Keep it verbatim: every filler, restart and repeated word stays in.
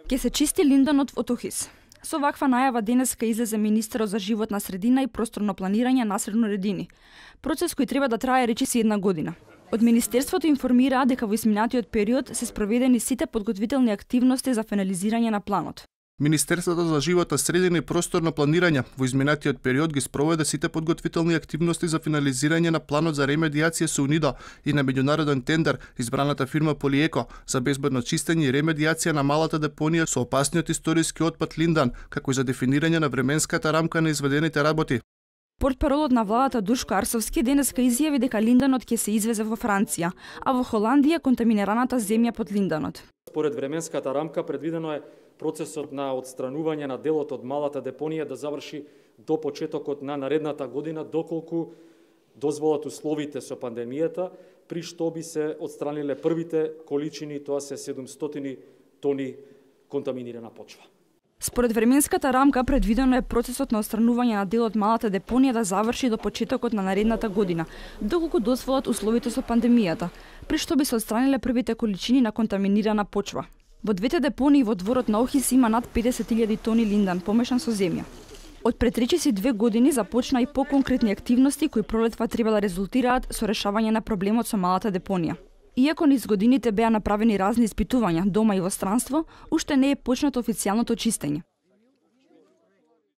Ке се чисти линданот во Охис. Со ваква најава денеска излезе министерот за животна средина и просторно планирање Насер Нуредини. Процес кој треба да трае речиси една година. Од Министерството информираа дека во изминатиот период се спроведени сите подготвителни активности за финализирање на планот. Министерството за животна средина и просторно планирање во изминатиот период ги спроведе сите подготвителни активности за финализирање на планот за ремедиација со УНИДО и на меѓународен тендер избраната фирма Полиеко за безбедно чистење и ремедиација на малата депонија со опасниот историски отпад Линдан, како и за дефинирање на временската рамка на изведените работи. Портпаролот на владата Душко Арсовски денеска изјави дека линданот ќе се извезе во Франција, а во Холандија контаминираната земја под линданот. Според временската рамка предвидено е процесот на отстранување на делот од малата депонија да заврши до почетокот на наредната година, доколку дозволат условите со пандемијата, при што би се отстраниле првите количини, тоа се седумстотини тони контаминирана почва. Според временската рамка предвидено е процесот на отстранување на дел од малата депонија да заврши до почетокот на наредната година, доколку дозволат условите со пандемијата, при што би се отстраниле првите количини на контаминирана почва. Во двете депонии во дворот на Охис има над педесет илјади тони линдан помешан со земја. Од пред речиси две години започна и поконкретни активности кои пролетва треба да резултираат со решавање на проблемот со малата депонија. Иако низ годините беа направени разни испитувања дома и во странство, уште не е почнато официјалното чистење.